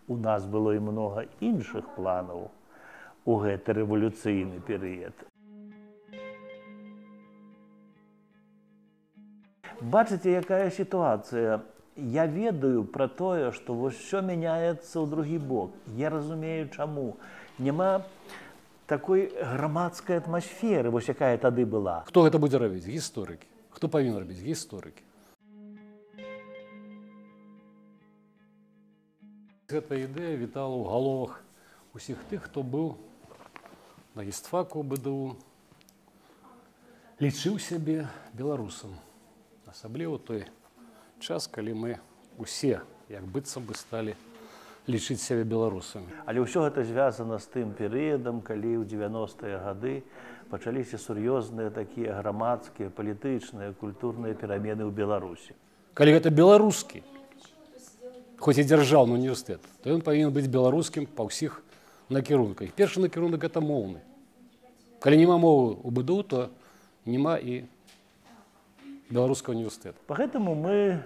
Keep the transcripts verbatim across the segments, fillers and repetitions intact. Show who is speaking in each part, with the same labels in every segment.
Speaker 1: У нас было і много іншых планаў у гэты рэвалюцыйны перыяд. Бачыце, якая сітуацыя? Я ведаю пра тое, што вось усё мяняецца ў другі бок. Я разумею, чаму. Няма такой грамадскай атмасферы, вось якая тады была.
Speaker 2: Хто гэта будзе рабіць? Гісторыкі. Хто павінен рабіць? Гісторыкі. Гэта ідэя вітала ў галовах усіх тых, хто быў на гістфаку БДУ, лічыў сябе беларусам. Асабліва той час, калі мы усе, як быццам бы, сталі лічыць сябе беларусамі.
Speaker 1: Але ўсё гэта звязана з тым перыядам, калі ў дзевяностыя гады пачаліся сур'ёзныя такія грамадскія, палітычныя, культурныя перамены ў Беларусі.
Speaker 2: Калі гэта беларускі, хоць і дзяржаўны універсітэт, то ён павінен быць беларускім па ўсіх накірунках. Першы накірунак – гэта моўны. Калі няма мовы ў БДУ, то няма і беларускага універсітэта.
Speaker 1: Пагэтаму мы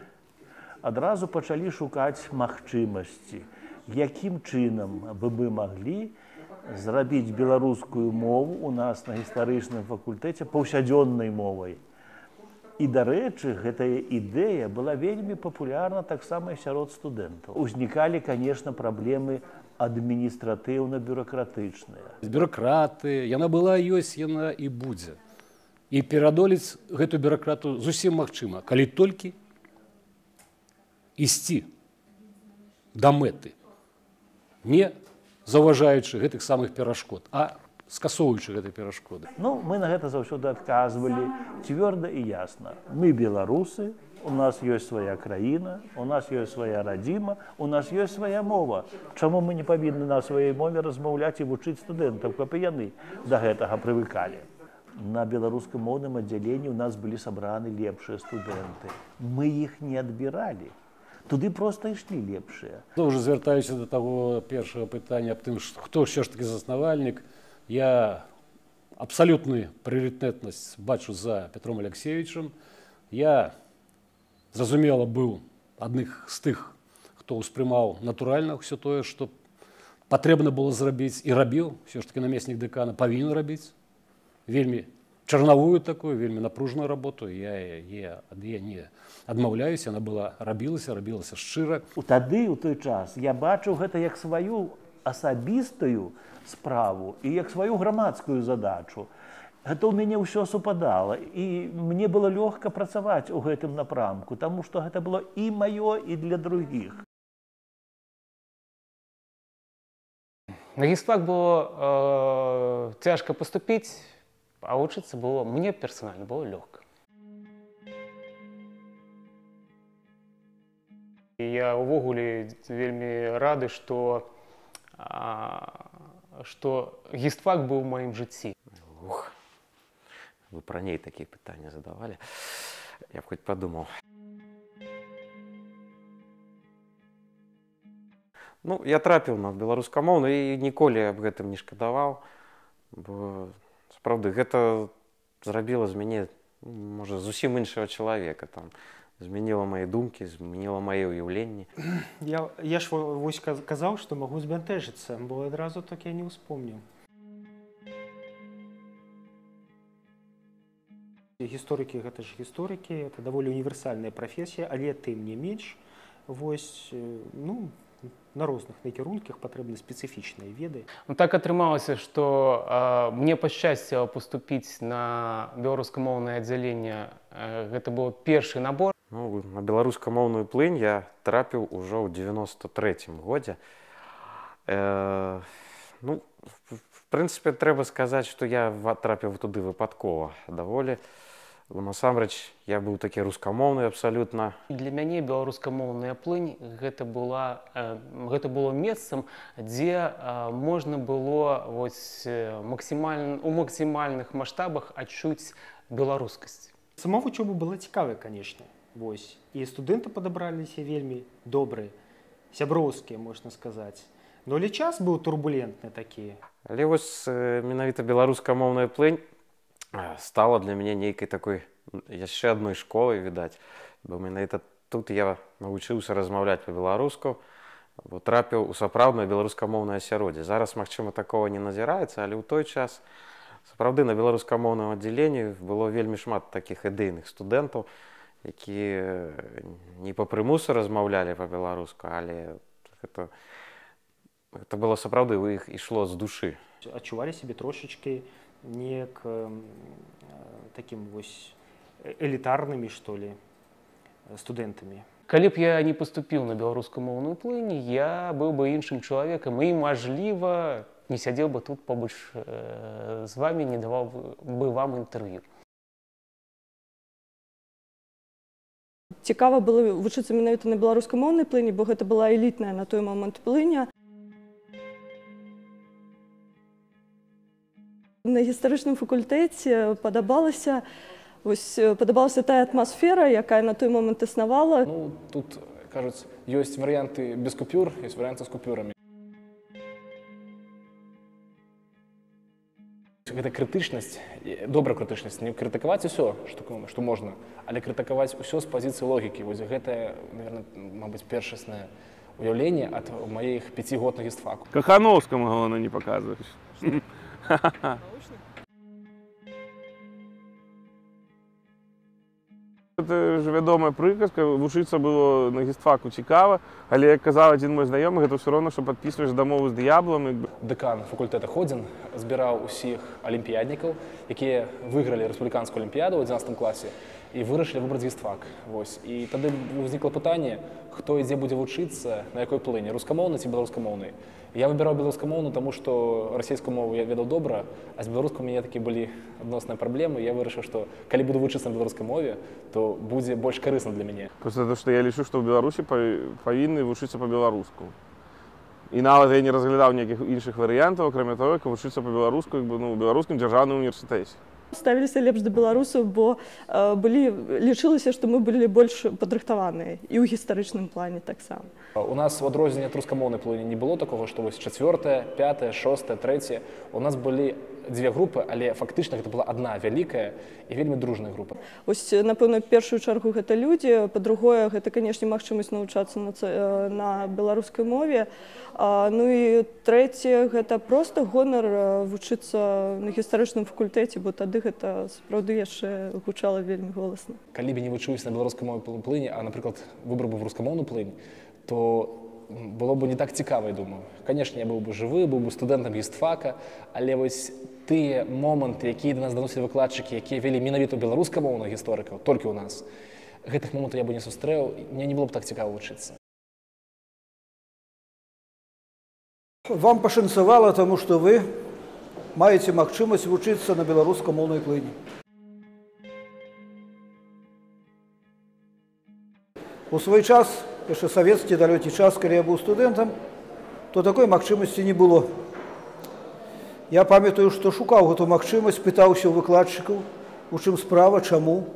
Speaker 1: адразу пачалі шукаць магчымасці, якім чынам бы мы маглі зрабіць беларускую мову у нас на гістарычным факультэце паўсядзённай мовай. І, дарэчы, гэтая ідэя была вельмі папулярна таксама і сярод студэнтаў. Узнікалі, канешне, праблемы адміністратыўна-бюракратычныя.
Speaker 2: Бюракраты, яна была, ёсць, яна і будзе. І пераадолець гэту бюракрату зусім магчыма, калі толькі ісці да мэты, не заўважаючы гэтых самых перашкод, а скасоўваючы гэтай перашкоды.
Speaker 1: Ну, мы на гэта заўсёды адказвалі цвёрда і ясна. Мы беларусы, у нас ёсць свая краіна, у нас ёсць свая радзіма, у нас ёсць свая мова. Чаму мы не павінны на сваёй мове размаўляць і вучыць студэнтаў, каб і яны да гэтага прывыкалі? На беларускамоўным аддзяленні у нас былі сабраны лепшыя студэнты. Мы іх не адбіралі. Туды проста ішлі лепшыя.
Speaker 2: Зноў жа звяртаюся да таго першага пытання аб тым, хто ўсё ж такі заснавальнік. Я абсалютную прыярытэтнасць бачу за Петром Алексеевичем. Я, зразумела, быў адных з тых, хто ўспрымаў натуральна ўсё тое, што патрэбна было зрабіць і рабіў, ўсё ж такі намеснік дэкана павінен рабіць. Вельмі чарнавую такую, вельмі напружную работу. Я, я, я не адмаўляюся, яна была, рабілася, рабілася шчыра.
Speaker 1: Тады, у той час, я бачыў гэта як сваю асабістую справу і як сваю грамадскую задачу. Гэта ў мяне ўсё супадала, і мне было лёгка працаваць у гэтым напрамку, таму што гэта было і маё, і для другіх.
Speaker 3: На гістфак было э, цяжка паступіць, а вучыцца было, мне персанальна было лёгка. Я ўвогуле вельмі рады, што што гістфак быў у маім жыцці.
Speaker 4: Ух, вы пра ней такія пытанні задавалі. Я б хоць падумаў. Ну, я трапіў на беларускамоўную і ніколі аб гэтым не шкадаваў, бо сапраўды гэта зрабіла з мяне, можа, зусім іншага чалавека. Там змяніла мае думкі, змяніла мае ўяўленні.
Speaker 5: Я, я ж вось казаў, што магу збянтэжыцца, бо адразу так я не ўспомніў. Гісторыкі гэта ж гісторыкі, это даволі універсальная прафесія, але тым не менш, вось, ну, на розных накірунках патрэбны спецыфічныя веды.
Speaker 3: Ну, так атрымалася, што э, мне пашчасціла паступіць на беларускамоўнае аддзяленне. Э, гэта быў першы набор.
Speaker 4: Ну, на беларускамоўную плынь я трапіў ужо ў дзевяноста трэцім годзе. Э, ну, в прынцыпе, трэба сказаць, што я трапіў туды выпадкова даволі. Насамрэч, я быў такі рускамоўны абсалютна.
Speaker 3: Для мяне беларускамоўная плынь гэта, была, э, гэта было месцам, дзе э, можна было вось, максімаль... у максімальных маштабах адчуць беларускасць.
Speaker 5: Сама вучоба была цікавая, канешне. Вось. І студэнты падабраліся вельмі добрыя, сяброўскія, можна сказаць. Но але час быў турбулентны такі.
Speaker 4: Але вось менавіта беларускамоўная плынь стала для мяне нейкай такой яшчэ адной школай, відаць. Бо менавіта тут я навучыўся размаўляць па-беларуску, бо трапіў у сапраўднае беларускамоўнае асяроддзе. Зараз, магчыма, такого не назіраецца, але ў той час сапраўды на беларускамоўным аддзяленні было вельмі шмат такіх ідэйных студэнтаў, якія не па прымусу размаўлялі па-беларуску, але гэта, гэта было сапраўды, у іх ішло з душы.
Speaker 5: Адчувалі сябе трошечкі неяк э, такім вось элітарнымі, што ли, студэнтамі.
Speaker 3: Калі б я не паступіў на беларускамоўную плынь, я быў бы іншым чалавекам і, мажліва, не сядзеў бы тут побач э, з вамі, не даваў бы вам інтэрв'ю.
Speaker 6: Цікава было вучыцца менавіта на беларускамоўнай плыні, бо гэта была элітная на той момант плыня. На гістарычным факультэце падабалася Вось падабалася тая атмасфера, якая на той момант існавала.
Speaker 7: Ну, тут, кажуць, ёсць варыянты без купюр, ёсць варыянты з купюрамі. Гэта крытычнасць, добра крытычнасць, не крытыкаваць усё, што, што можна, але крытыкаваць усё з пазіцыі логікі. Вось гэта, наверное, мабыць, першаснае уяўленне ад маіх пяці год на гістфаку.
Speaker 8: Кахановскаму, галоўнае, не паказваеш. Гэта ж вядомая прыказка, вучыцца было на гістфаку цікава, але, як казаў адзін мой знаёмы, гэта ўсё роўна, што падпісваеш дамову з д'яблам.
Speaker 7: Дэкан факультэта Ходзін збіраў усіх алімпіяднікаў, якія выйгралі рэспубліканскую алімпіяду ў адзінаццатым класе і вырашылі выбраць гістфак. Вось. І тады ўзнікла пытанне, хто і дзе будзе вучыцца, на якой плыні, рускамоўнай ці беларускамоўнай. Я выбіраў беларускамоўную, таму што расійскую мову я ведаў добра, а з беларускай у мяне такі былі адносныя праблемы. Я вырашыў, што калі буду вучыцца на беларускай мове, то будзе больш карысна для мяне.
Speaker 8: Просто то, што я лічу, што ў Беларусі павінны вучыцца па-беларуску. І нават я не разглядаў ніякіх іншых варыянтаў, акрамя таго, як вучыцца па-беларуску ў беларускім дзяржаўным універсітэце.
Speaker 6: Ставіліся лепш да беларусаў, бо э, былі, лічылася, што мы былі больш падрыхтаваныя і ў гістарычным плане таксама.
Speaker 7: У нас в адрозненне ад рускамоўнай плыні не было такого, што вось чацвёртая, пятая, шостая, трэцяя. У нас былі дзве групы, але фактычна гэта была адна вялікая і вельмі дружная група.
Speaker 6: Вось, напэўна, першую чаргу гэта людзі, па-другое, гэта, канешне, магчымасць навучацца на, на беларускай мове. А, ну і трэцяе, гэта проста гонар вучыцца на гістарычным факультэце, бо тады гэта сапраўды яшчэ гучала вельмі голасна.
Speaker 7: Калі б не вучыўся на беларускай мове плыні, а, напрыклад, выбраў бы в рускамоўную плынь, то было б не так цікава, я думаю. Канешне, я быў бы жывы, быў бы студэнтам гістфака, але вось тыя моманты, якія да нас даносілі выкладчыкі, якія вялі менавіта беларускамоўных гісторыкаў, толькі ў нас, гэтых момантаў я бы не сустрэў, мне не было б так цікава вучыцца.
Speaker 9: Вам пашанцавала, таму што вы маеце магчымасць вучыцца на беларускамоўнай плыні. У свой час, яшчэ савецкі далёкі час, калі я быў студэнтам, то такой магчымасці не было. Я памятаю, што шукаў гэту магчымасць, пытаўся ў выкладчыкаў, у чым справа, чаму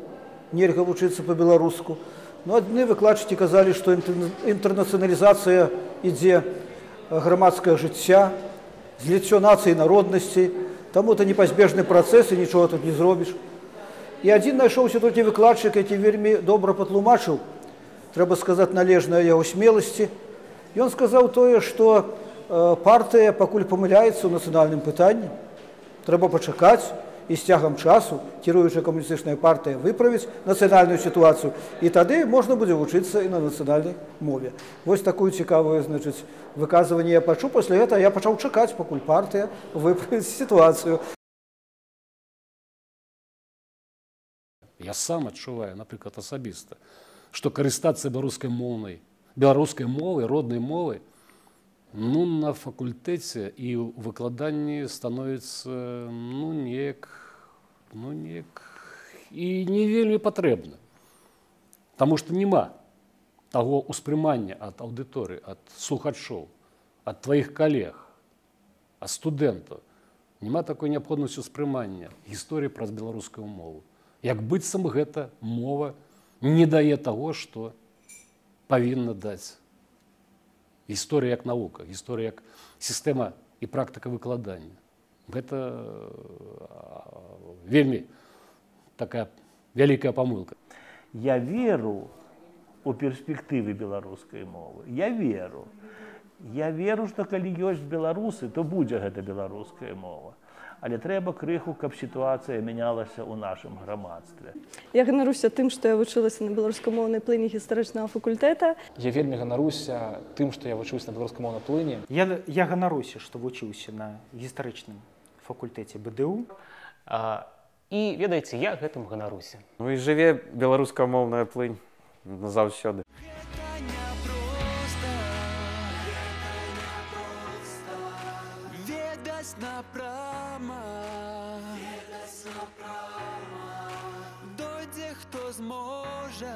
Speaker 9: нельга вучыцца па-беларуску. Ну, адны выкладчыкі казалі, што інтэрнацыяналізацыя ідзе грамадскае жыцця, зліццё нацый і народнасцей, таму это непазбежны працэс і нічога тут не зробіш. І адзін знайшоўся толькі выкладчык, які вельмі добра патлумачыў, трэба сказаць, належнае яго смеласці. Ён сказаў тое, што партыя пакуль памыляецца ў нацыянальным пытанні, трэба пачакаць, і з цягам часу кіруючая камуністычная партыя выправіць нацыянальную сітуацыю, і тады можна будзе вучыцца і на нацыянальнай мове. Вось такую цікавую, значыць, выказванне я пачуў, пасля гэтага я пачаў чакаць, пакуль партыя выправіць сітуацыю.
Speaker 2: Я сам адчуваю, напрыклад, асабіста, што карыстацца беларускай моўнай, беларускай мовай, роднай мовай, ну, на факультэце і ў выкладанні становіцца, ну, неяк, ну, неяк, і не вельмі патрэбна. Таму што няма таго ўспрымання ад аўдыторыі, ад слухачоў, ад тваіх калег, ад студэнтаў. Няма такой неабходнасці ўспрымання гісторыі праз беларускую мову. Як быццам гэта мова не дае таго, што павінна даць. Гісторыя як навука, гісторыя як сістэма і практыка выкладання. Гэта вельмі такая вялікая памылка.
Speaker 1: Я веру у перспектывы беларускай мовы. Я веру. Я веру, што калі ёсць беларусы, то будзе гэта беларуская мова. Але трэба крыху, каб сітуацыя мянялася ў нашым грамадстве.
Speaker 6: Я ганаруся тым, што я вучылася на беларускамоўнай плыні гістарычнага факультэта.
Speaker 7: Я вельмі ганаруся тым, што я вучуся на беларускамоўнай плыні.
Speaker 5: Я, я ганаруся, што вучыўся на гістарычным факультэце бэ дэ у.
Speaker 3: А, і ведаеце, я гэтым ганаруся.
Speaker 4: Ну і жыве беларускамоўная плынь назаўсёды.
Speaker 10: Напрама, дойдзе хто зможа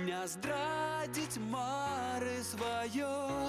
Speaker 10: не здрадзіць мары сваёй.